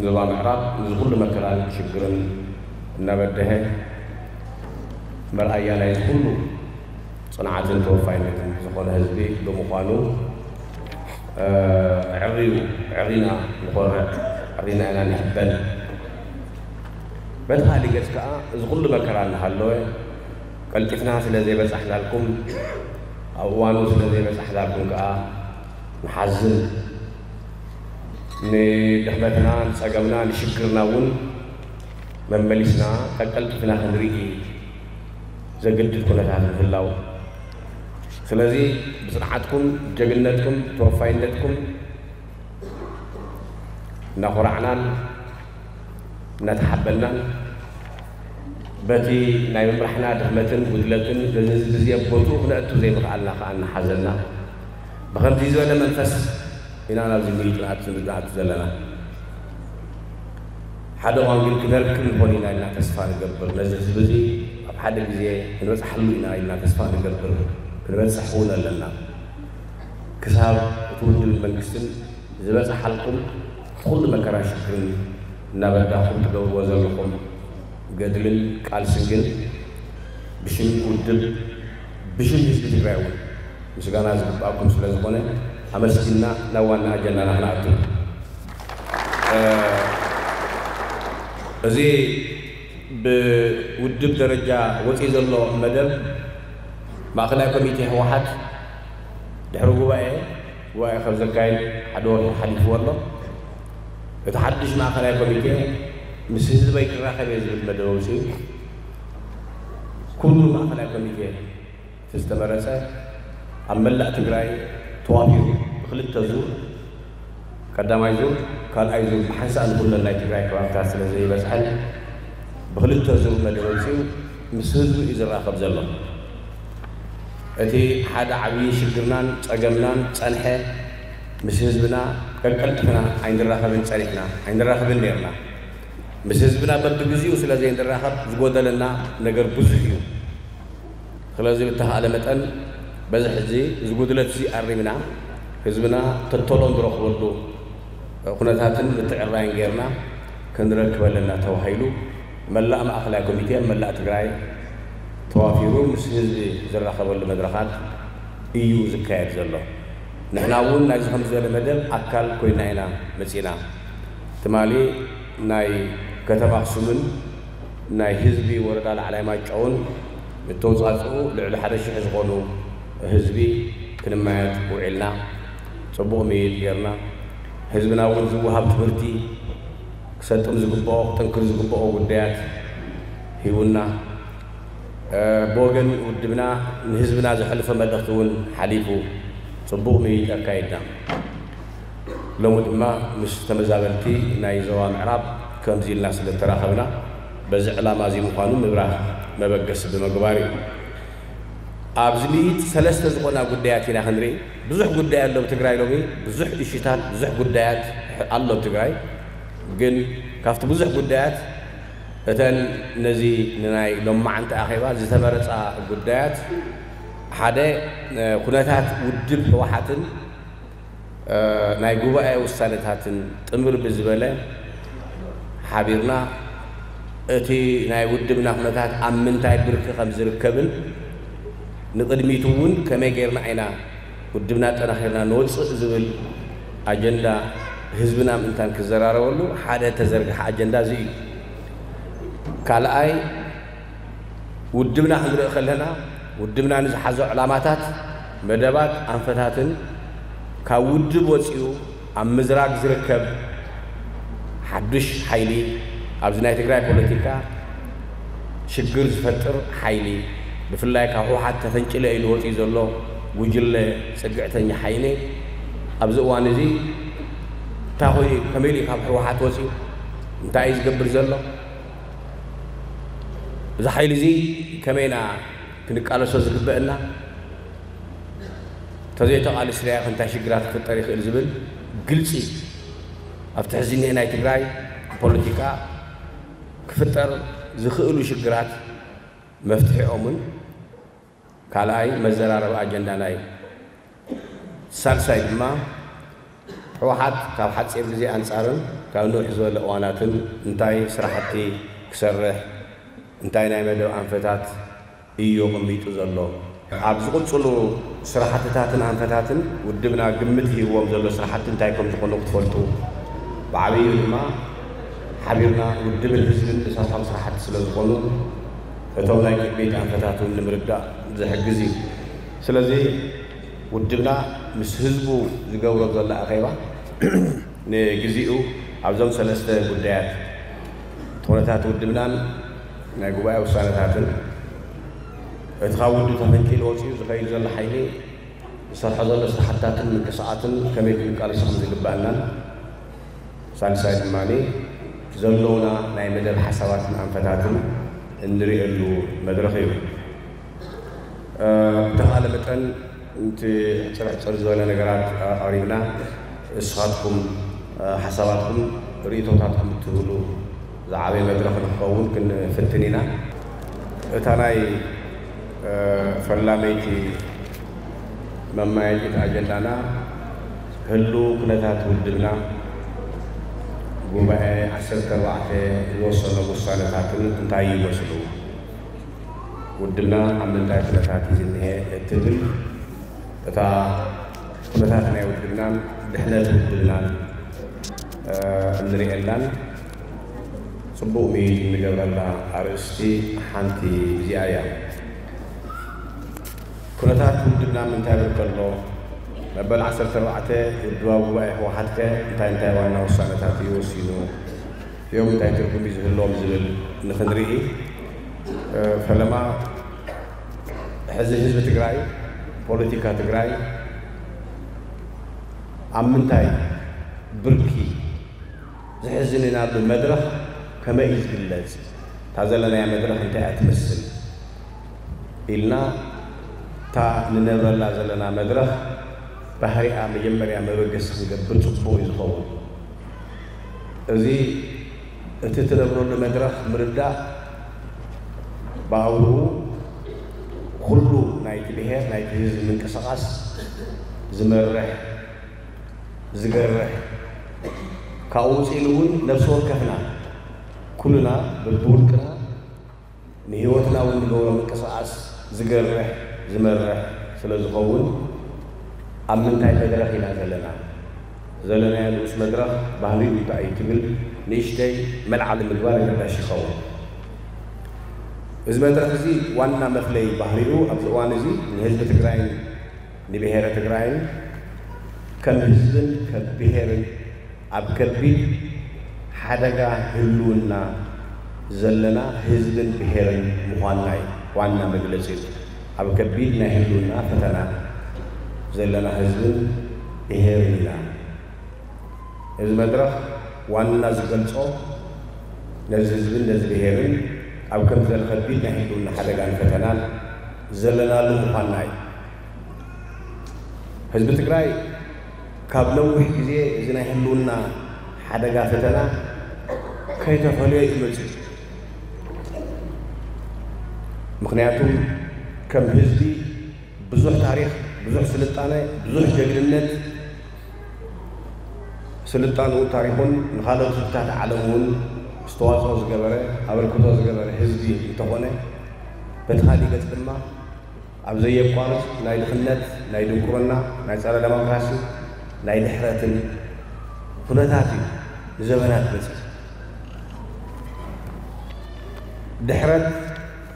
ዞባ ምዕራብ እዚ ኩሉ መከራን ሽግርን እናበደሀ መርኣያ ናይ ኩሉ ጽንዓትን ተወፋይነትን ዝኾነ ህዝቢ ብምዃኑ፣ እ፣ ዕርዩ፣ ዕሪና ንኾርዕ፣ ዕሪና ኢና ንሕበን። በቲ ካልእ ገጽ ከኣ እዚ ኩሉ መከራ እናሃለወ ቀልጢፍና ስለ ዘይበጻሕናልኩም፣ ኣብ እዋኑ ስለ ዘይበጻሕናልኩም ከኣ ንሓዝን። ንድኽመትና፣ ንጸገምና፣ ንሽግርና እውን መመሊስና ቀልጢፍና ክንርኢ ዘገድድ ኩነታት ምህላው። ስለዚ ብጽንዓትኩም፣ ጀግንነትኩም፣ ተወፋይነትኩም እናኾራዕናን እናተሓበናን በቲ ናይ ምምራሕና ድኽመትን ጉድለትን ነዚ ህዝቢ እዚ ኣብ ቦትኡ ክነእቱ ዘይምኽኣልና ከኣ እናሓዘና ብኸምዚ ዝበለ መንፈስ ኢና ናብዚ ምይይጥ ንኣቱ ዘለና። ሓደ እዋን ግን ክነርክብ ንኾን ኢና ኢልና ተስፋ ንገብር። ነዚ ህዝቢ እዚ ኣብ ሓደ ግዜ ክንበጽሓሉ ኢና ኢልና ተስፋ ንገብር። ክንበጽሕ እውን ኣለና። ክሳብ እቲ ውድብን መንግስትን ዝበጽሓልኩም እቲ ኩሉ መከራን ሽግርን እናበዳኹም ትገብርዎ ዘለኹም ገድልን ቃልስን ግን ብሽም ውድብ፣ ብሽም ህዝቢ ትግራይ እውን ምስጋና ዝግባኣኩም ስለ ዝኾነ ኣመስጊንና ናብ ዋና ኣጀንዳና ክንኣቱ። እ፣ እዚ ብውድብ ደረጃ ወፂኡ ዘሎ መደብ ማእኸላይ ኮሚቴ ህወሓት ድሕሪ ጉባኤ፣ ጉባኤ ከም ዘካየድ ሓደ ወርሒ ሓሊፍዎ ኣሎ። እቲ ሓድሽ ማእኸላይ ኮሚቴ ምስ ህዝበይ ክራኸብ እየ ዝብል መደብ ኣውፂኡ። ኩሉ ማእኸላይ ኮሚቴ እቲ ዝተመረፀ ኣብ መላእ ትግራይ ተዋፊሩ ብክልተ ዙር፣ ቀዳማይ ዙር፣ ካልኣይ ዙር ብሓንሳእ ንኩለን ናይ ትግራይ ከባብታት ስለ ዘይበፅሐን ብክልተ ዙር መደብ ኣውፂኡ ምስ ህዝቡ እዩ ዝራኸብ ዘሎ። እቲ ሓደ ዓብዪ ሽግርናን ጸገምናን ጸንሐ ምስ ህዝብና ቀቀልጥፍና ኣይንራኸብን ጸኒሕና፣ ኣይንራኸብን ነይርና። ምስ ህዝብና በብግዚኡ ስለ ዘይንራኸብ ዝጎደለና ነገር ብዙሕ እዩ። ስለዚ ብተኻእለ መጠን በዚ ሕዚ እዚ ጉድለት እዚ ኣሪምና ህዝብና ተተሎ ንረኽበሉ ኩነታትን ምትዕርራይን ጌርና ክንረክብ ኣለና ተባሂሉ መላእ ማእኸላይ ኮሚቴ መላእ ትግራይ ተዋፊሩ ምስ ህዝቢ ዝራኸበሉ መድረኻት እዩ ዝካየድ ዘሎ። ንሕና እውን ናይዚ ከም ዝበለ መደብ ኣካል ኮይና ኢና መፂና። ትማሊ ናይ ከተማ ኣኽሱምን ናይ ህዝቢ ወረዳ ላዕላይ ማይጨውን እተውፃፅኡ ልዕሊ ሓደ ሽሕ ዝኾኑ ህዝቢ ክንመያየጥ ውዒልና። ፅቡቕ ምይይጥ ጌርና። ህዝብና እውን ዝወሃብ ትምህርቲ፣ ክሰጥም ዝግብኦ፣ ክጥንክር ዝግብኦ ጉዳያት ሂቡና። እ፣ ብወገን ውድብና ንህዝብና ዘሕልፎ መልእኽቲ እውን ሓሊፉ ፅቡቕ ምይይጥ ኣካይድና። ሎሚ ድማ ምስ ተመዛበልቲ ናይ ዞባ ምዕራብ ከምዚ ኢልና ስለ እተራኸብና በዚ ዕላማ እዚ ምዃኑ ምብራህ መበገሲ ብምግባር እዩ። ኣብዚ ምይይጥ ሰለስተ ዝኾና ጉዳያት ኢና ክንርኢ። ብዙሕ ጉዳይ ኣሎ ኣብ ትግራይ ሎሚ፣ ብዙሕ እሽታት፣ ብዙሕ ጉዳያት ኣሎ ኣብ ትግራይ። ግን ካብቲ ብዙሕ ጉዳያት እተን ነዚ ንናይ ሎማዓንቲ ኣኼባ ዝተመረፃ ጉዳያት ሓደ፣ እ፣ ኩነታት ውድብ ህወሓትን እ፣ ናይ ጉባኤ ውሳነታትን ጥምር ብዝበለ ሓቢርና እቲ ናይ ውድብና ኩነታት ኣብ ምንታይ ብርኪ ከም ዝርከብን ንቕድሚት እውን ከመይ ጌርና ኢና ውድብና ኣጠናኺርና ንወፅእ ዝብል ኣጀንዳ ህዝብና ምእንታን ክዘራረበሉ ሓደ ተዘርግሐ ኣጀንዳ እዚ እዩ። ካልኣይ ውድብና ክንርኢ ከለና፣ ውድብና ንዝሓዞ ዕላማታት፣ መደባት፣ ኣንፈታትን ካብ ውድብ ወፂኡ ኣብ ምዝራግ ዝርከብ ሓዱሽ ሓይሊ፣ ኣብዚ ናይ ትግራይ ፖለቲካ ሽግር ዝፈጥር ሓይሊ፣ ብፍላይ ካብ ህወሓት ተፈንጭለ ኢሉ ወፂኡ ዘሎ ጉጅለ ፅግዕተኛ ሓይሊ፣ ኣብዚ እዋን እዚ እንታይ ኮይኑ፣ ከመይ ኢሉ ካብ ህወሓት ወፂኡ፣ እንታይ እዩ ዝገብር ዘሎ? እዚ ሓይሊ እዚ ከመይ ኢና ክንቃለሶ ዝግበአና? ተዘይተቓሊስናዮ እንታይ ሽግራት ክፍጠር ይኽእል ዝብል ግልፂ ኣብቲ ሕዚ እኒሀ ናይ ትግራይ ፖለቲካ ክፍጠር ዝኽእሉ ሽግራት መፍትሒኦምን ካልኣይ መዘራረቢ ኣጀንዳና እዩ። ሳልሳይ ድማ ህወሓት ካብ ሓፂር ግዜ ኣንፃርን ካብ ንውሕ ዝበለ እዋናትን እንታይ ስራሕቲ ክሰርሕ፣ እንታይ ናይ መደብ ኣንፈታት እዩ ኣቐሚጡ ዘሎ? ኣብ ዝቕፅሉ ስራሕትታትን ኣንፈታትን ውድብና ግምት ሂብዎም ዘሎ ስራሕቲ እንታይ ከም ዝኾኑ ክትፈልጡ፣ ብዓብዩ ድማ ሓቢርና ውድብን ህዝብን ተሳታፊ ስራሕቲ ስለ ዝኾኑ፣ እቶም ናይ ቅድሚት ኣንፈታት እውን ንምርዳእ ዝሕግዝ እዩ። ስለዚ ውድብና ምስ ህዝቡ ዝገብሮ ዘሎ ኣኼባ ንግዚኡ ኣብዞም ሰለስተ ጉዳያት፣ እቲ ኩነታት ውድብናን ናይ ጉባኤ ውሳነታትን፣ እቲ ካብ ውድብ ተፈንቂሉ ወፂኡ ዝኸይድ ዘሎ ሓይሊ ዝሰርሖ ዘሎ ስራሕትታትን ምንቅስቓስን ከመይ ክንቃለሶ ከም ዝግባአናን፣ ሳልሳይ ድማ ዘለውና ናይ መደብ ሓሳባትን ኣንፈታትን እንርእየሉ መድረኽ እዩ። እ፣ ብተኻለ መጠን እቲ ሕፅር ሕፅር ዝበለ ነገራት ኣቕሪብና፣ ንስኻትኩም፣ እ፣ ሓሳባትኩም፣ ርእይቶታትኩም እትህብሉ ዝዓበየ መድረኽ ንክኸውን ክንፍትን ኢና። እታ ናይ፣ እ፣ ፈላመይቲ መማየጢት ኣጀንዳና ህሉው ኩነታት ውድብና፣ ጉባኤ ዓሰርተ ኣርባዕተ ዝወሰኖም ውሳነታትን እንታይ ይመስሉ? ውድብና ኣብ ምንታይ ኩነታት እዩ ዝኒሀ እትብል፣ እታ ኩነታት ናይ ውድብናን ድሕነት ውድብናን፣ እ፣ እንርእየላን ጽቡቕ ምይይጥ እንገብረላ ኣርእስቲ ሓንቲ እዚኣ እያ። ኩነታት ውድብና ምንታይ ይብል ከሎ፣ መበል ዓሰርተ ኣርባዕተ ውድባዊ ጉባኤ ህወሓት ከ እንታይ እንታይ ዋና ውሳነታት እዩ ወሲኑ? እዮም እንታይ ትርጉም እዩ ዝህልዎም ዝብል ንክንርኢ፣ እ፣ ፈለማ ሕዚ ህዝቢ ትግራይ፣ ፖለቲካ ትግራይ ኣብ ምንታይ ብርኪ ዝሕዝን ኢናሉ መድረኽ ከመይ እዩ ዝግለጽ? እታ ዘለናያ መድረኽ እንታይ እያ ትመስል? ኢልና እታ ንነብረላ ዘለና መድረኽ ባህሪኣ መጀመርያ መበገሲ ክንገብር ጽቡቕ እዩ ዝኸውን። እዚ እቲ ትነብረሉ መድረኽ ምርዳእ ብኣውርኡ ኩሉ ናይቲ ብሔር ናይቲ ህዝቢ ምንቅስቓስ ዝመርሕ ዝገርሕ ካብኡ ውፅእ ኢሉ እውን ነብሲ ወከፍና ኩልና በብውልቅና ንህይወትና እውን ንገብሮ ምንቅስቓስ ዝገርሕ ዝመርሕ ስለ ዝኸውን ኣብ ምንታይ መድረኽ ኢና ዘለና? ዘለናዮ ንኡስ መድረኽ ባህሪኡ እንታይ እዩ ትብል ንእሽተይ መልዓሊ ምግባር ኣገዳሲ ይኸውን። እዚ መድረኽ እዚ ዋና መፍለይ ባህሪኡ ኣብዚ እዋን እዚ ንህዝቢ ትግራይን ንብሔረ ትግራይን ከም ህዝብን ከም ብሔርን ኣብ ከቢድ ሓደጋ ህልውና ዘለና ህዝብን ብሔርን ምዃንና እዩ ዋና መግለፂ። ኣብ ከቢድ ናይ ህልውና ፈተና ዘለና ህዝብን ብሔርን ኢና። እዚ መድረኽ ዋና ዝገልጾ ነዚ ህዝብን ነዚ ብሔርን ኣብ ከምዚ ዝበለ ከቢድ ናይ ህልውና ሓደጋን ፈተናን ዘለናሉ ምዃንና እዩ። ህዝቢ ትግራይ ካብ ነዊሕ ግዜ እዚ ናይ ህልውና ሓደጋ ፈተና ከይተፈለዮ እዩ መፅዩ። ምኽንያቱ ከም ህዝቢ ብዙሕ ታሪኽ፣ ብዙሕ ስልጣነ፣ ብዙሕ ጀግንነት፣ ስልጣንኡ ታሪኹን ንኻልኦት ህዝብታት ዓለም እውን ኣስተዋፅኦ ዝገበረ ኣበርክቶ ዝገበረ ህዝቢ እንተኾነ፣ በቲ ካሊእ ገፅ ድማ ኣብ ዘየቋርፅ ናይ ድኽነት፣ ናይ ድንቁርና፣ ናይ ፀረ ዴሞክራሲ፣ ናይ ድሕረትን ኩነታት እዩ ንዘበናት በፂሑ። ድሕረት፣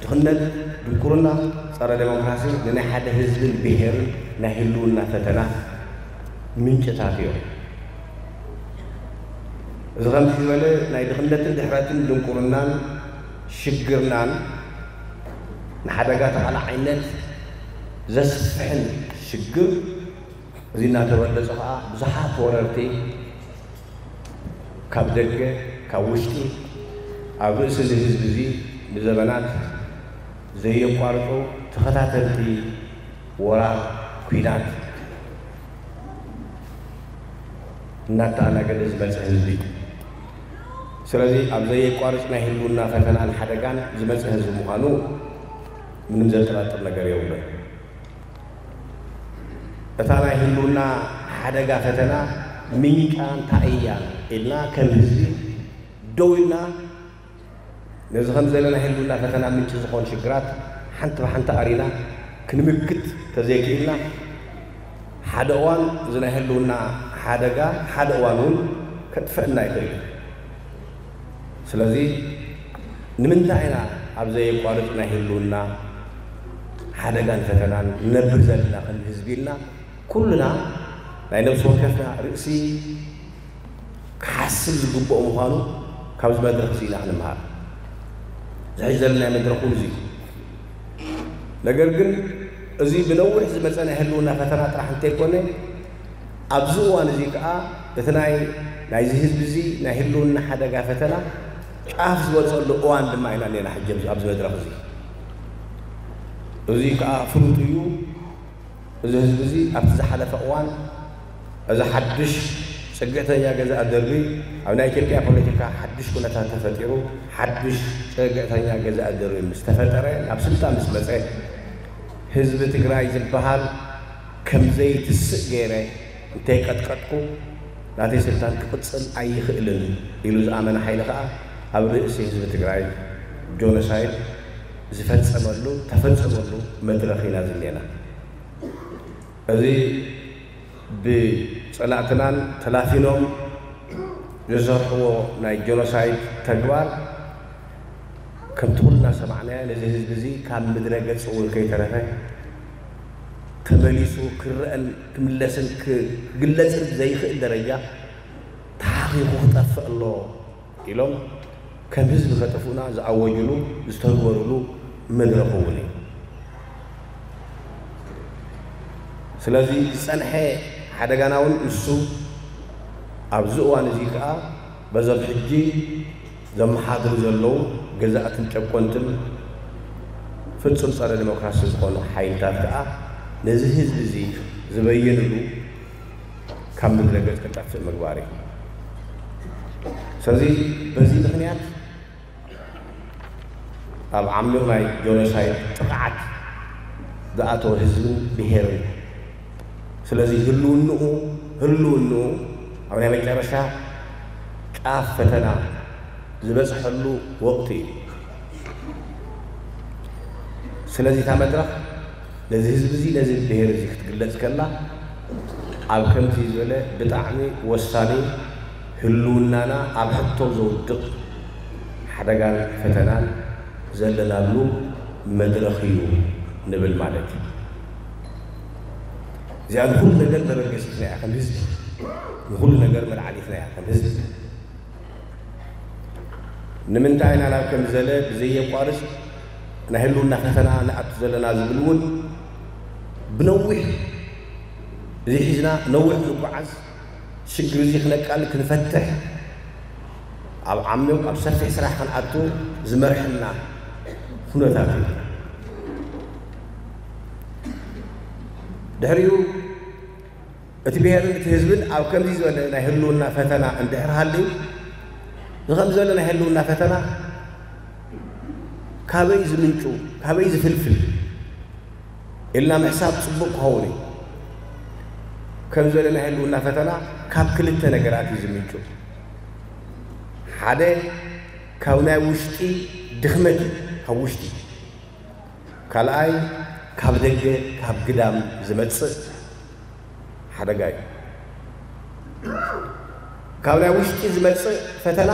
ድኽነት፣ ድንቁርና፣ ፀረ ዴሞክራሲ ንናይ ሓደ ህዝብን ብሄርን ናይ ህልውና ፈተና ምንጭታት እዮም። እዚ ከምዚ ዝበለ ናይ ድኽነትን ድሕረትን ድንቁርናን ሽግርናን ንሓደጋ ተቓላዓይነት ዘስፍሕን ሽግር እዚ እናተበለፀ ከዓ ብዙሓት ወረርቲ ካብ ደገ ካብ ውሽጢ ኣብ ርእሲ እዚ ህዝቢ እዚ ንዘበናት ዘየቋርፁ ተኸታተልቲ ወራር ኲናት እናተኣናገደ ዝመፀ ህዝቢ እዩ። ስለዚ ኣብ ዘየቋርፅ ናይ ህልውና ፈተናን ሓደጋን ዝመፀ ህዝቢ ምዃኑ ምንም ዘጠራጥር ነገር የብሉን። እታ ናይ ህልውና ሓደጋ ፈተና ምንጫ እንታይ እያ ኢልና ከም ህዝቢ ደው ኢልና ነዚ ከም ዘለና ህልውና ፈተና ምንጪ ዝኾን ሽግራት ሓንቲ ብሓንቲ ኣሪና ክንምክት ተዘይክኢልና ሓደ እዋን እዚ ናይ ህልውና ሓደጋ ሓደ እዋን እውን ከጥፈእና ይኽእል እዩ። ስለዚ ንምንታይ ኢና ኣብ ዘየቋርጽ ናይ ህልውና ሓደጋን ፈተናን ንነብር ዘለና ከም ህዝቢ ኢልና ኩልና ናይ ነብሲ ወከፍና ርእሲ ክሓስብ ዝግብኦ ምዃኑ ካብዚ መድረኽ እዚ ኢና ክንምሃር። ዝሕጅ ዘለና መድረኽ እውን እዚ እዩ። ነገር ግን እዚ ብነዊሕ ዝመፀ ናይ ህልውና ፈተና ጥራሕ እንተይኮነ ኣብዚ እዋን እዚ ከዓ እቲ ናይ ናይዚ ህዝቢ እዚ ናይ ህልውና ሓደጋ ፈተና ጫፍ ዝበፀሉ እዋን ድማ ኢና እኔና ሕጂ ኣብዚ መድረኽ እዚ። እዚ ከዓ ፍሉጥ እዩ። እዚ ህዝቢ እዚ ኣብቲ ዝሓለፈ እዋን እዚ ሓድሽ ፅግዕተኛ ገዛእ ደርቢ ኣብ ናይ ኢትዮጵያ ፖለቲካ ሓድሽ ኩነታት ተፈጢሩ ሓድሽ ፅግዕተኛ ገዛእ ደርቢ ምስ ተፈጠረ ናብ ስልጣን ምስ መፀ ህዝቢ ትግራይ ዝበሃል ከም ዘይትስእ ገይረ እንተይቀጥቀጥኩ ናተይ ስልጣን ክቕፅል ኣይኽእልን ኢሉ ዝኣመነ ሓይሊ ከዓ ኣብ ርእሲ ህዝቢ ትግራይ ጆኖሳይድ ዝፈፀመሉ ተፈፀመሉ መድረኽ ኢና ዝኔና። እዚ ብፀላእትናን ተላፊኖም ዝሰርሕዎ ናይ ጀኖሳይድ ተግባር ከምቲ ኩልና ሰማዕናዮ ነዚ ህዝቢ እዚ ካብ ምድረ ገፅ እውን ከይተረፈ ተመሊሱ ክረአን ክምለስን ክግለፅን ብዘይኽእል ደረጃ ተሓኺኹ ክጠፍእ ኣሎ ኢሎም ከም ህዝቢ ከጥፍኡና ዝኣወጅሉ ዝተግበሩሉ መድረኽ እውን እዩ። ስለዚ ዝፀንሐ ሓደጋና እውን ንሱ ኣብዚ እዋን እዚ ከዓ በዞም ሕጂ ዘመሓድሩ ዘለዉ ገዛእትን ጨቆንትን ፍጹም ጸረ ዲሞክራሲ ዝኾኑ ሓይልታት ከዓ ነዚ ህዝቢ እዚ ዝበየንሉ ካብ ምድረ ገጽ ክጠፍእ ምግባር እዩ። ስለዚ በዚ ምኽንያት ኣብ ዓሚቕ ናይ ጆኖሳይድ ጥቕዓት ዝኣተወ ህዝብን ብሄርን ስለዚ ህልውንኡ ህልውንኡ ኣብ ናይ መጨረሻ ጫፍ ፈተና ዝበፅሐሉ ወቕቲ እዩ። ስለዚ እታ መድረኽ ነዚ ህዝቢ እዚ ነዚ ብሄር እዚ ክትግለፅ ከላ ኣብ ከምዚ ዝበለ ብጣዕሚ ወሳኒ ህልውናና ኣብ ሕቶ ዘውድቕ ሓደጋን ፈተናን ዘለናሉ መድረኽ እዩ ንብል ማለት እዩ። እዚኣ ንኹሉ ነገር መበገሲትና እያ ከም ህዝቢ፣ ንኹሉ ነገር መልዓሊትና እያ ከም ህዝቢ። ንምንታይ ኢና ናብ ከም ዘለ ብዘየቋርጽ ናይ ህልውና ፈተና ንኣቱ ዘለና ዝብል እውን ብነዊሕ እዚ ሒዝና ነዊሕ ንጓዓዝ ሽግር እዚ ክነቃል ክንፈትሕ ኣብ ዓሚቕ ኣብ ሰፊሕ ስራሕ ክንኣቱ ዝመርሐና ኩነታት እዩ። ድሕሪኡ እቲ ብሄርን እቲ ህዝብን ኣብ ከምዚ ዝበለ ናይ ህልውና ፈተና እንድሕር ሃልዩ እዚ ከም ዝበለ ናይ ህልውና ፈተና ካበይ ዝምንጩ ካበይ ዝፍልፍል ኢልና ምሕሳብ ፅቡቅ ክኸውን እዩ። ከም ዝበለ ናይ ህልውና ፈተና ካብ ክልተ ነገራት እዩ ዝምንጩ። ሓደ ካብ ናይ ውሽጢ ድኽመት እዩ፣ ካብ ውሽጢ። ካልኣይ ካብ ደገ ካብ ግዳም ዝመፅእ ሓደጋ እዩ። ካብ ናይ ውሽጢ ዝመፅእ ፈተና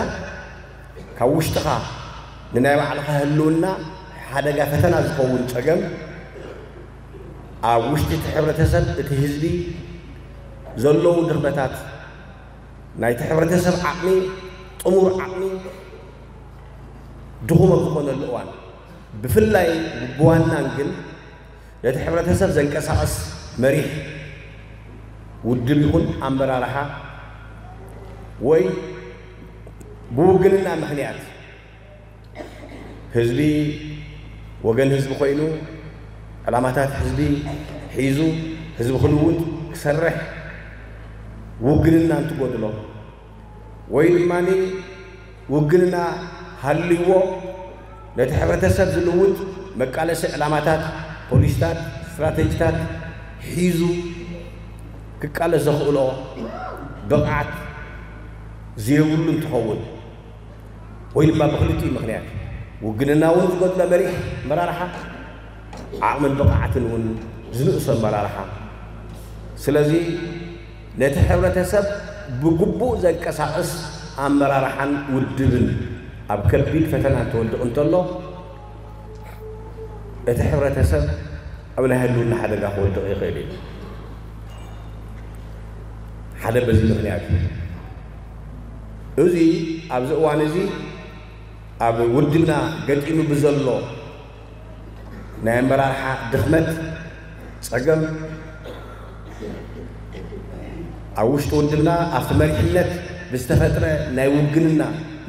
ካብ ውሽጥኻ ንናይ ባዕልኻ ህልውና ሓደጋ ፈተና ዝኸውን ፀገም ኣብ ውሽጢ እቲ ሕብረተሰብ እቲ ህዝቢ ዘለዉ ድኽመታት ናይቲ ሕብረተሰብ ዓቕሚ ጥሙር ዓቕሚ ድኹም ኣብ ዝኾነሉ እዋን ብፍላይ ብዋናን ግን ነቲ ሕብረተሰብ ዘንቀሳቕስ መሪሕ ውድብ ይኹን ኣመራርሓ ወይ ብውግንና ምኽንያት ህዝቢ ወገን ህዝቢ ኮይኑ ዕላማታት ህዝቢ ሒዙ ህዝቢ ክልውጥ ክሰርሕ ውግንና እንትጎድሎ ወይ ድማ ውግንና ሃልይዎ ነቲ ሕብረተሰብ ዝልውጥ መቃለሲ ዕላማታት፣ ፖሊሲታት፣ ስትራተጂታት ሒዙ ክቃለስ ዘኽእሎ ብቕዓት ዘይብሉ እንትኸውን ወይ ድማ ብክልቲኡ ምኽንያት ውግንና እውን ዝጎድሎ መሪሕ ኣመራርሓ ዓቕምን ብቕዓትን እውን ዝንእሶ ኣመራርሓ። ስለዚ ነቲ ሕብረተሰብ ብግቡእ ዘንቀሳቕስ ኣመራርሓን ውድብን ኣብ ከቢድ ፈተና እንትወድቕ እንተሎ እቲ ሕብረተሰብ ኣብ ናይ ህልውና ሓደጋ ክወድቕ ይኽእል እዩ። ሓደ በዚ ምኽንያት እዩ። እዚ ኣብዚ እዋን እዚ ኣብ ውድብና ገጢሙ ብዘሎ ናይ ኣመራርሓ ድኽመት ጸገም ኣብ ውሽጢ ውድብና ኣብቲ መሪሕነት ብዝተፈጥረ ናይ ውግንና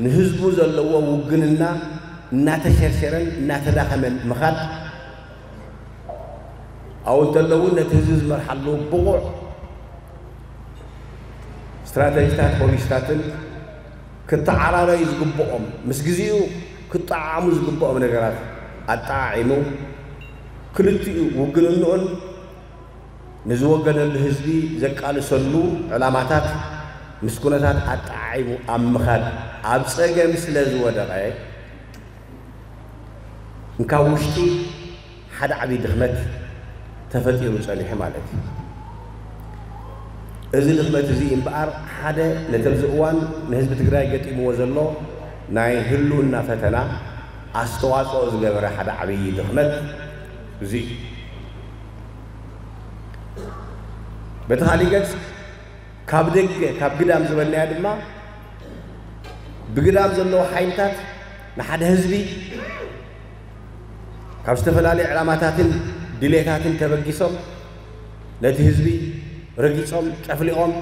ንህዝቡ ዘለዎ ውግንና እናተሸርሸረን እናተዳኸመን ምኻድ ኣብኡ እንተሎ እውን ነቲ ህዝቢ ዝመርሓሉ ብቑዕ ስትራተጂታት ፖሊሲታትን ክተዓራረዩ ዝግብኦም ምስ ግዜኡ ክጠዓዓሙ ዝግብኦም ነገራት ኣጠዓዒሙ ክልቲኡ ውግንንኡን ንዝወገነሉ ህዝቢ ዘቃልሰሉ ዕላማታት ምስ ኩነታት ኣጠዓዒሙ ኣብ ምኻድ ኣብ ጸገም ስለ ዝወደቐ እንካብ ውሽጢ ሓደ ዓብዪ ድኽመት ተፈጢሩ ጸኒሑ ማለት እዩ። እዚ ድኽመት እዚ እምበኣር ሓደ ነቲ ኣብዚ እዋን ንህዝቢ ትግራይ ገጢምዎ ዘሎ ናይ ህልውና ፈተና ኣስተዋፅኦ ዝገበረ ሓደ ዓብዪ ድኽመት እዚ እዩ። በቲ ካሊእ ገፅ ካብ ደገ ካብ ግዳም ዝበልናያ ድማ ብግዳም ዘለዉ ሓይልታት ንሓደ ህዝቢ ካብ ዝተፈላለዩ ዕላማታትን ድሌታትን ተበጊሶም ነቲ ህዝቢ ረጊጾም ጨፍሊቖም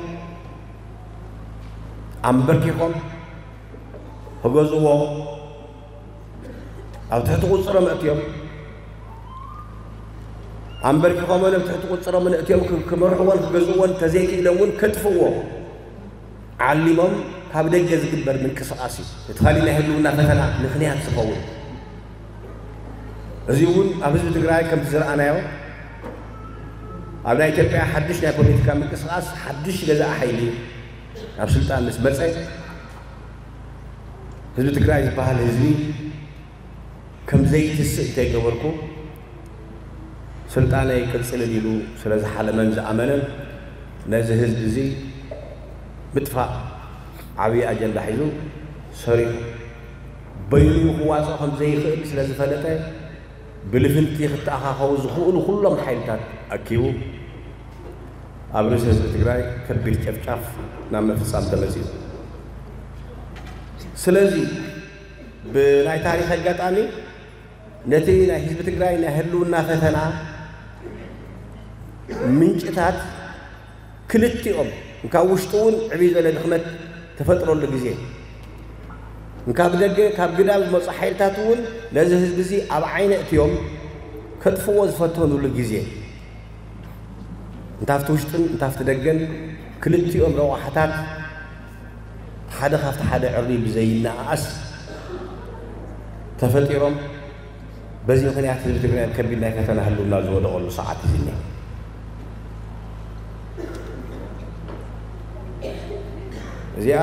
ኣንበርኪኾም ክገዝእዎ ኣብ ትሕቲ ቁፅሮም ኣእትዮም ኣንበርኪኾምን ኣብ ትሕቲ ቁፅሮምን ኣእትዮም ክመርሕዎን ክገዝእዎን ተዘይክኢሎም እውን ከጥፍእዎ ዓሊሞም ካብ ደገ ዝግበር ምንቅስቃስ እዩ። እቲ ካሊእ ናይ ህልውና ፈተና ምኽንያት ዝኸውን እዚ እውን ኣብ ህዝቢ ትግራይ ከምቲ ዝረኣናዮ ኣብ ናይ ኢትዮጵያ ሓድሽ ናይ ፖለቲካ ምንቅስቃስ ሓድሽ ገዛእ ሓይሊ ናብ ስልጣን ምስ መፀ ህዝቢ ትግራይ ዝበሃል ህዝቢ ከም ዘይትስእ እንተይገበርኩ ስልጣነይ ይቅፅልን ኢሉ ስለ ዝሓለመን ዝኣመነን ነዚ ህዝቢ እዚ ምጥፋእ ዓብዪ ኣጀንዳ ሒዙ ሰሪሑ በይኑ ክዋፅኦ ከም ዘይኽእል ስለ ዝፈለጠ ብልፍንቲ ክተኣኻኸቡ ዝኽእሉ ኩሎም ሓይልታት ኣኪቡ ኣብ ርእሲ ህዝቢ ትግራይ ከቢድ ጨፍጫፍ ናብ ምፍፃም ተመፂኡ። ስለዚ ብናይ ታሪክ ኣጋጣሚ ነቲ ናይ ህዝቢ ትግራይ ናይ ህልውና ፈተና ምንጭታት ክልቲኦም እንካብ ውሽጢ እውን ዕብይ ዝበለ ድኽመት ተፈጥረሉ ግዜ እንካብ ደገ ካብ ግዳም ዝመፁ ሓይልታት እውን ነዚ ህዝቢ እዚ ኣብ ዓይነ እትዮም ከጥፍዎ ዝፈተኑሉ ግዜ እንታፍቲ ውሽጥን እንታፍቲ ደገን ክልቲኦም ረቋሕታት ሓደ ካብቲ ሓደ ዕሪ ብዘይነኣኣስ ተፈጢሮም በዚ ምኽንያት ህዝቢ ትግራይ ኣብ ከቢድ ናይ ፈተና ህልውና ዝወደቐሉ ሰዓት እዩ ዝኒሀ። እዚኣ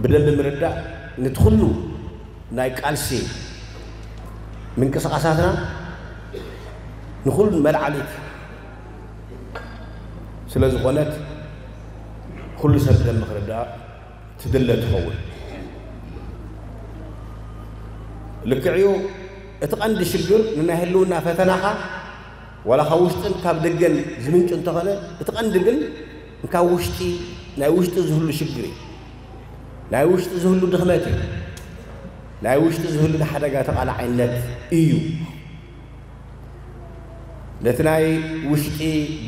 ብደንቢ ምርዳእ ነቲ ኩሉ ናይ ቃልሲ ምንቅስቃሳትና ንኩሉ መልዓሊት ስለ ዝኾነት ኩሉ ሰብ ደንቢ ክርዳእ ትድለ ትኸውን። ልክዕዩ እቲ ቀንዲ ሽግር ንናይ ህልውና ፈተናኻ ዋላ ካብ ውሽጥን ካብ ደገን ዝምንጩ እንተኾነ እቲ ቀንዲ ግን ካብ ውሽጢ ናይ ውሽጢ ዝህሉ ሽግር እዩ። ናይ ውሽጢ ዝህሉ ድኽመት እዩ። ናይ ውሽጢ ዝህሉ ንሓደጋ ተቓላዓይነት እዩ። ነቲ ናይ ውሽጢ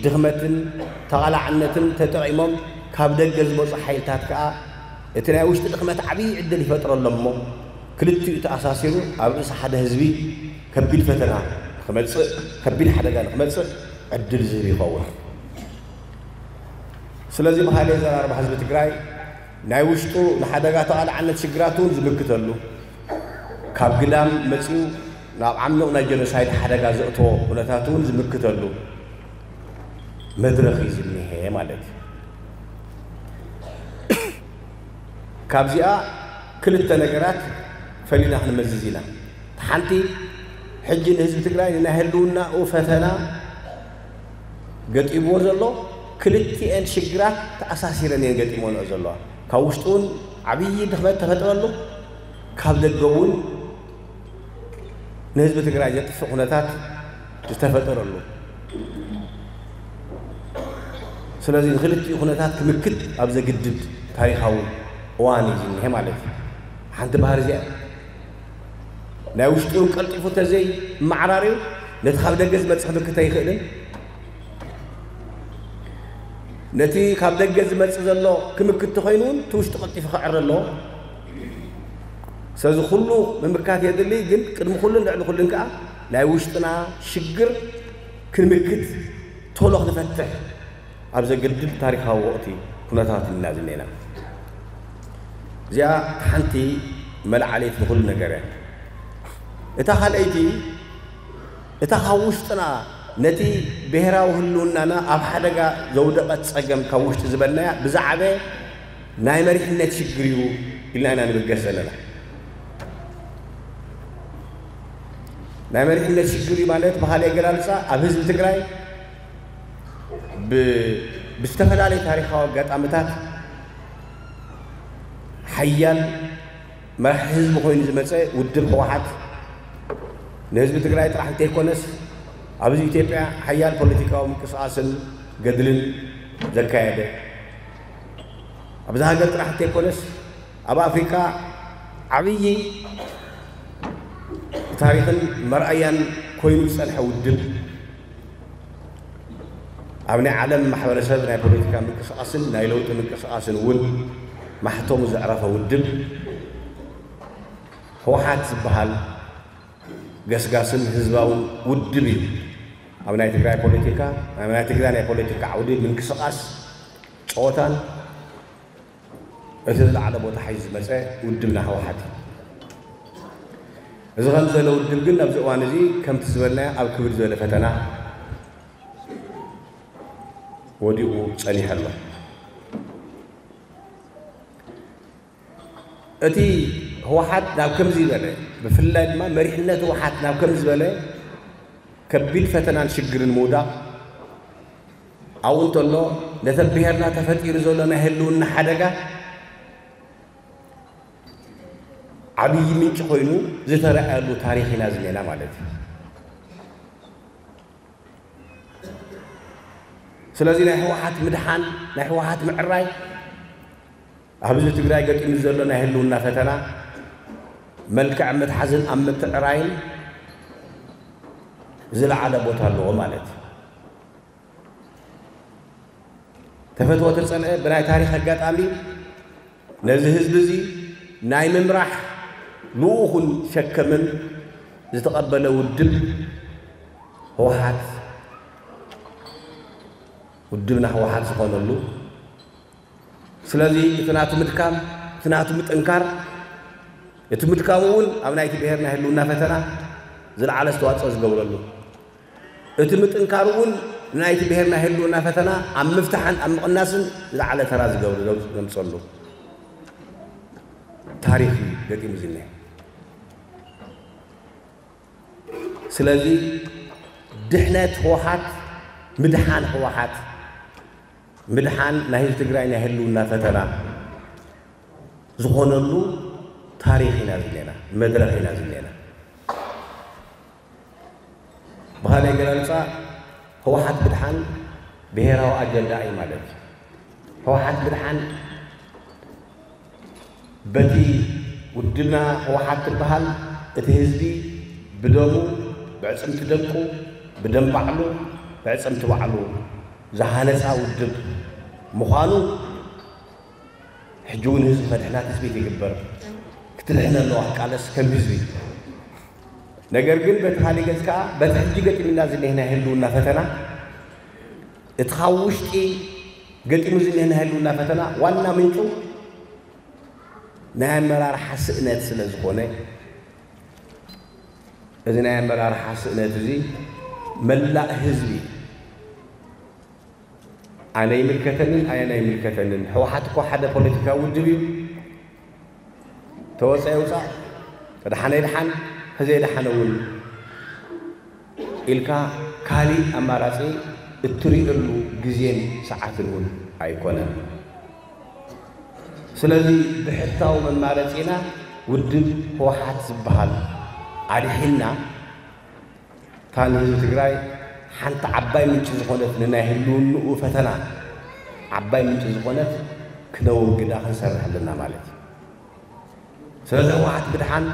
ድኽመትን ተቓላዕነትን ተጠቒሞም ካብ ደገ ዝመፁ ሓይልታት ከዓ እቲ ናይ ውሽጢ ድኽመት ዓብዪ ዕድል ይፈጥረሎም እሞ ክልቲኡ ተኣሳሲሩ ኣብ ርእሲ ሓደ ህዝቢ ከቢድ ፈተና ንክመፅእ ከቢድ ሓደጋ ንክመፅእ ዕድል ዝህብ ይኸውን። ስለዚ ብካልእ ኣዘራርባ ህዝቢ ትግራይ ናይ ውሽጡ ንሓደጋ ተቓላዕነት ሽግራት እውን ዝምክተሉ ካብ ግዳም መፂኡ ናብ ዓሚቕ ናይ ጀኖሳይድ ሓደጋ ዘእተዎ ኩነታት እውን ዝምክተሉ መድረኽ እዩ ዝኒሀ። ማለት እዩ። ካብዚኣ ክልተ ነገራት ፈሊና ክንመዝዝ ኢና። ሓንቲ፣ ሕጂ ንህዝቢ ትግራይ ንናይ ህልውናኡ ፈተና ገጢምዎ ዘሎ፣ ክልቲኤን ሽግራት ተኣሳሲረን እየን ገጢመንኦ ዘለዋ። ካብ ውሽጡ እውን ዓብዪ ድኽመት ተፈጥረሉ፣ ካብ ደገ እውን ንህዝቢ ትግራይ ዘጥፍእ ኩነታት ዝተፈጠረሉ። ስለዚ ንክልቲኡ ኩነታት ክምክት ኣብ ዘግድድ ታሪኻዊ እዋን እዩ ዝኒሀ ማለት እዩ። ሓንቲ ባህሪ እዚኣ ናይ ውሽጡ ቀልጢፉ ተዘይመዓራርዩ ነቲ ካብ ደገ ዝመጽእ ክምክት ኣይኽእልን። ነቲ ካብ ደገ ዝመጽእ ዘሎ ክምክት ተኾይኑ እውን እቲ ውሽጡ ቀልጢፉ ክዕረ ኣለዎ። ስለዚ ኩሉ ምምካት የድሊ፣ ግን ቅድሚ ኩሉን ልዕሊ ኩሉን ከኣ ናይ ውሽጥና ሽግር ክንምክት ቶሎ ክንፈትሕ ኣብ ዘግድድ ታሪኻዊ ወቕቲ ኩነታት ኢና ዝኔና። እዚኣ ሓንቲ መልዓሊት ንኹሉ ነገር እያ። እታ ካልኣይቲ፣ እታ ካብ ውሽጥና ነቲ ብሄራዊ ህልውናና ኣብ ሓደጋ ዘውደቐት ጸገም ካብ ውሽጢ ዝበልናያ ብዛዕበ ናይ መሪሕነት ሽግር እዩ ኢልና ኢና ንምገስ ዘለና። ናይ መሪሕነት ሽግር እዩ ማለት ብኻልእ ኣገላልጻ ኣብ ህዝቢ ትግራይ ብ-፣ ብዝተፈላለዩ ታሪኻዊ ኣጋጣሚታት ሓያል መራሒ ህዝቢ ኮይኑ ዝመጸ ውድብ ህወሓት ንህዝቢ ትግራይ ጥራሕ እንተይኮነስ ኣብዚ ኢትዮጵያ ሓያል ፖለቲካዊ ምንቅስቓስን ገድልን ዘካየደ፣ ኣብዚ ሃገር ጥራሕ እንተይኮነስ ኣብ ኣፍሪካ ዓብዪ ታሪኽን መርኣያን ኮይኑ ዝጸንሐ ውድብ፣ ኣብ ናይ ዓለም ማሕበረሰብ ናይ ፖለቲካ ምንቅስቓስን ናይ ለውጢ ምንቅስቓስን እውን ማሕተሙ ዘዕረፈ ውድብ ህወሓት ዝበሃል ገስጋስን ህዝባውን ውድብ እዩ። ኣብ ናይ ትግራይ ፖለቲካ፣ ኣብ ናይ ትግራይ ናይ ፖለቲካ ዓውዲ ምንቅስቓስ ጸወታን እቲ ዝለዓለ ቦታ ሒዙ ዝመጸ ውድብና ህወሓት እዩ። እዚ ከም ዝበለ ውድብ ግን ኣብዚ እዋን እዚ ከምቲ ዝበልናዮ ኣብ ክብድ ዝበለ ፈተና ወዲቑ ጸኒሑ ኣሎ። እቲ ህወሓት ናብ ከምዚ ዝበለ፣ ብፍላይ ድማ መሪሕነት ህወሓት ናብ ከምዚ ዝበለ ከቢድ ፈተናን ሽግርን ምውዳቕ ኣብኡ እንተሎ፣ ነቲ ኣብ ብሄርና ተፈጢሩ ዘሎ ናይ ህልውና ሓደጋ ዓብዪ ምንጪ ኮይኑ ዝተረኣየሉ ታሪኽ ኢና ዝኔና ማለት እዩ። ስለዚ ናይ ህወሓት ምድሓን፣ ናይ ህወሓት ምዕራይ ኣብ ህዝቢ ትግራይ ገጢሙ ዘሎ ናይ ህልውና ፈተና መልክዕ ምትሓዝን ኣብ ምትዕራይን ዝለዓለ ቦታ ኣለዎ ማለት እዩ። ተፈትወ ተጸልአ ብናይ ታሪኽ ኣጋጣሚ ነዚ ህዝቢ እዚ ናይ ምምራሕ ልኡኹን ሸከምን ዝተቐበለ ውድብ ህወሓት፣ ውድብና ህወሓት ዝኾነሉ። ስለዚ እቲ ናቱ ምድካም፣ እቲ ናቱ ምጥንካር፣ እቲ ምድካሙ እውን ኣብ ናይቲ ብሄር ናይ ህልውና ፈተና ዝለዓለ ኣስተዋፅኦ ዝገብረሉ፣ እቲ ምጥንካሩ እውን ናይቲ ብሄር ናይ ህልውና ፈተና ኣብ ምፍታሕን ኣብ ምቕናስን ዝለዓለ ተራ ዝገብር ዘምፀሉ ታሪኽ እዩ ገጢሙ ዝኒሀ። ስለዚ ድሕነት ህወሓት፣ ምድሓን ህወሓት፣ ምድሓን ናይ ህዝቢ ትግራይ ናይ ህልውና ፈተና ዝኾነሉ ታሪኽ ኢና ዝኔና፣ መድረኽ ኢና ዝኔና። ብኻልእ ኣገላልፃ ህወሓት ምድሓን ብሄራዊ ኣጀንዳ እዩ ማለት እዩ። ህወሓት ምድሓን በቲ ውድብና ህወሓት ትበሃል እቲ ህዝቢ ብደሙ፣ ብዕፅምቲ ደቁ፣ ብደም ባዕሉ፣ ብዕፅምቲ ባዕሉ ዝሃነፃ ውድብ ምዃኑ ሕጂ እውን ህዝቢ ከድሕና ትፅቢት ይግበር። ክትድሕን ኣለዋ ክቃለስ ከም ህዝቢ። ነገር ግን በቲ ካሊእ ገፅ ከዓ በቲ ሕጂ ገጢምና ዝኒሀ ናይ ህልውና ፈተና፣ እቲ ካብ ውሽጢ ገጢሙ ዝኒሀ ናይ ህልውና ፈተና ዋና ምንጩ ናይ ኣመራርሓ ስእነት ስለ ዝኾነ፣ እዚ ናይ ኣመራርሓ ስእነት እዚ መላእ ህዝቢ ኣነ ይምልከተንን ኣየን ኣይምልከተንን፣ ህወሓት እኮ ሓደ ፖለቲካዊ ውድብ እዩ፣ ተወፀ ይውፃእ፣ ተደሓነ ይድሓን፣ ተዘይደሓነ እውን ኢልካ ካሊእ ኣማራፂ እትርእየሉ ግዜን ሰዓትን እውን ኣይኮነን። ስለዚ ብሕታዊ መማረፂና ውድብ ህወሓት ዝበሃል ኣድሒንና፣ እታ ንህዝቢ ትግራይ ሓንቲ ዓባይ ምንጪ ዝኾነት፣ ንናይ ህልውንኡ ፈተና ዓባይ ምንጪ ዝኾነት ክነወግዳ ክንሰርሕ ኣለና ማለት እዩ። ስለዚ ህወሓት ምድሓን፣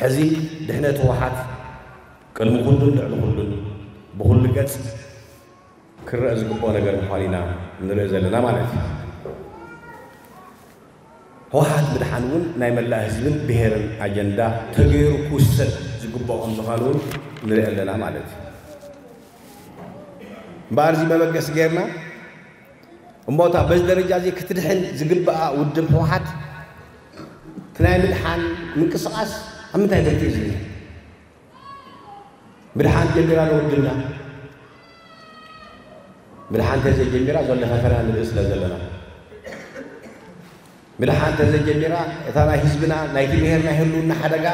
ሕዚ ድሕነት ህወሓት ቅድሚ ኩሉን ልዕሊ ኩሉን ብኩሉ ገጽ ክረአ ዝግብኦ ነገር ምዃኑ ኢና ንርኢ ዘለና ማለት እዩ። ህወሓት ምድሓን እውን ናይ መላእ ህዝብን ብሄርን ኣጀንዳ ተገይሩ ክውሰድ ዝግብኦ ከም ዝኾነ እውን ንርኢ ኣለና ማለት እዩ። እምበኣር እዚ መበገሲ ጌርና እሞ እታ በዚ ደረጃ እዚ ክትድሕን ዝግብኣ ውድብ ህወሓት እቲ ናይ ምድሓን ምንቅስቓስ ኣብ ምንታይ ደረጃ እዩ ዝኒሀ? ምድሓን ጀሚራ ዶ ውድብና? ምድሓን ተዘይጀሚራ ዘሎ ፈተና ንርኢ ስለ ዘለና፣ ምድሓን ተዘይጀሚራ እታ ናይ ህዝብና ናይቲ ብሄር ናይ ህልውና ሓደጋ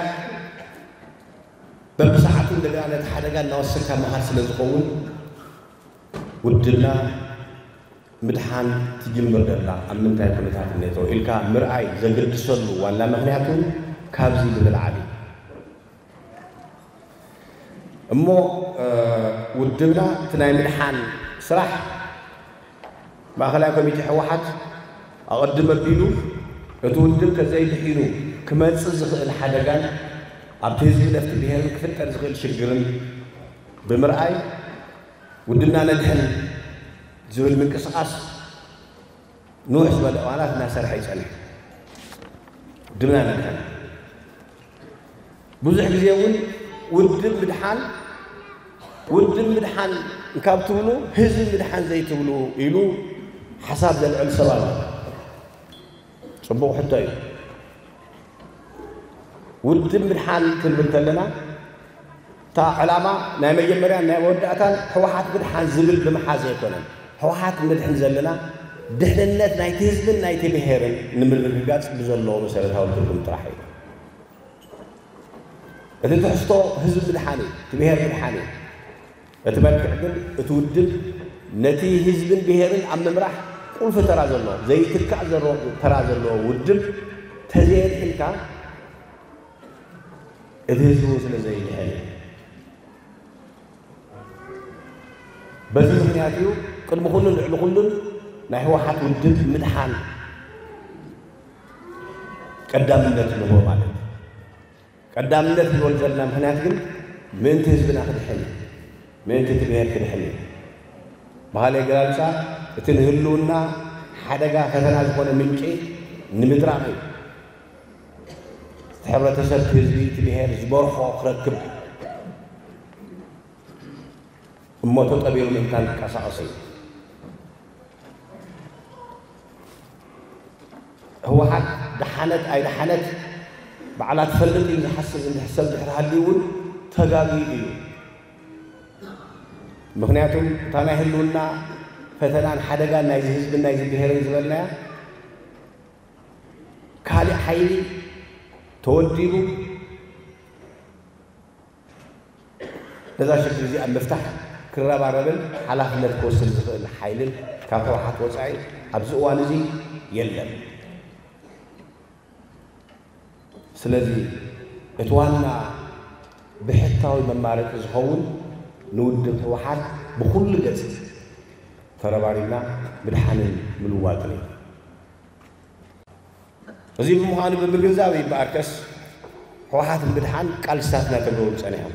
በብሰዓቱ እንደገና ነቲ ሓደጋ እናወሰድካ ምኻድ ስለ ዝኸውን ውድብና ምድሓን ትጅምር ዘላ ኣብ ምንታይ ኩነታት እኔቶ ኢልካ ምርኣይ ዘገድሰሉ ዋና ምኽንያት እውን ካብዚ ብምልዓል እዩ። እሞ ውድብና እቲ ናይ ምድሓን ስራሕ ማእኸላይ ኮሚቴ ህወሓት ኣቐድም ኣቢሉ እቲ ውድብ ተዘይድሒኑ ክመፅእ ዝኽእል ሓደጋን ኣብቲ ህዝቢ ነፍቲ ብሄርን ክፍጠር ዝኽእል ሽግርን ብምርኣይ ውድብና ነድሕን ዝብል ምንቅስቓስ ንውሕ ዝበለ እዋናት እናሰርሐ ይጸንሕ። ውድብና ነድሕን ብዙሕ ግዜ እውን ውድብ ምድሓን ውድብ ምድሓን ካብ ትብሉ ህዝቢ ምድሓን ዘይትብሉ ኢሉ ሓሳብ ዘልዕል ሰብ ኣሎ። ጽቡቕ ሕቶ እዩ። ውድብ ምድሓን ክንብል ከለና እታ ዕላማ ናይ መጀመርያን ናይ መወዳእታን ህወሓት ምድሓን ዝብል ብምሓዝ ኣይኮነን። ህወሓት ንድሕን ዘለና ድሕንነት ናይቲ ህዝብን ናይቲ ብሄርን ንምርግጋፅ ብዘለዎ መሰረታዊ ትርጉም ጥራሕ እዩ። እቲ ትሕዝቶ ህዝቢ ምድሓን እዩ፣ እቲ ብሄር ምድሓን እዩ። እቲ መልክዕ ግን እቲ ውድብ ነቲ ህዝብን ብሄርን ኣብ ምምራሕ ቁልፊ ተራ ዘለዎ ዘይትካእ ተራ ዘለዎ ውድብ ተዘየድሕንካ እቲ ህዝቢ እውን ስለ ዘይድሕን እዩ። በዚ ምኽንያት እዩ ቅድሚ ኩሉን ልዕሊ ኩሉን ናይ ህወሓት ውድብ ምድሓን ቀዳምነት ንህቦ ማለት እዩ። ቀዳምነት ንህቦ ዘለና ምኽንያት ግን ምእንቲ ህዝብና ክድሕን እዩ፣ ምእንቲ እቲ ብሄር ክድሕን እዩ። ባህሊ ኣገላልፃ እቲ ንህልውና ሓደጋ ፈተና ዝኾነ ምንጪ ንምድራቕ እዩ። እቲ ሕብረተሰብ ህዝቢ እቲ ብሄር ዝበርኾ ክረክብ እሞ ተጠቢሩ ምእንታን ክቀሳቐስ እዩ። ህወሓት ደሓነት ኣይደሓነት ባዕላ ትፈልጥ እዩ ዝሓስብ እንድሕር ሰብ ድሕሪ ሃልዩ እውን ተጋግዩ እዩ። ምክንያቱም እታ ናይ ህልውና ፈተናን ሓደጋን ናይዚ ህዝብን ናይዚ ብሄርን ዝበልናያ ካልእ ሓይሊ ተወዲቡ ነዛ ሽግር እዚኣ ኣብ ምፍታሕ ክረባረብን ሓላፍነት ክወስድ ዝኽእል ሓይልን ካብ ህወሓት ወፃኢ ኣብዚ እዋን እዚ የለን። ስለዚ እቲ ዋና ብሕታዊ መማረፂ ዝኸውን ንውድብ ህወሓት ብኩሉ ገፅ ተረባሪብና ምድሓንን ምልዋጥን እዩ። እዚ ብምዃኑ ብምግንዛብ ይበኣርከስ ህወሓት ንምድሓን ቃልስታት እናተገብሩ ፀኒሖም።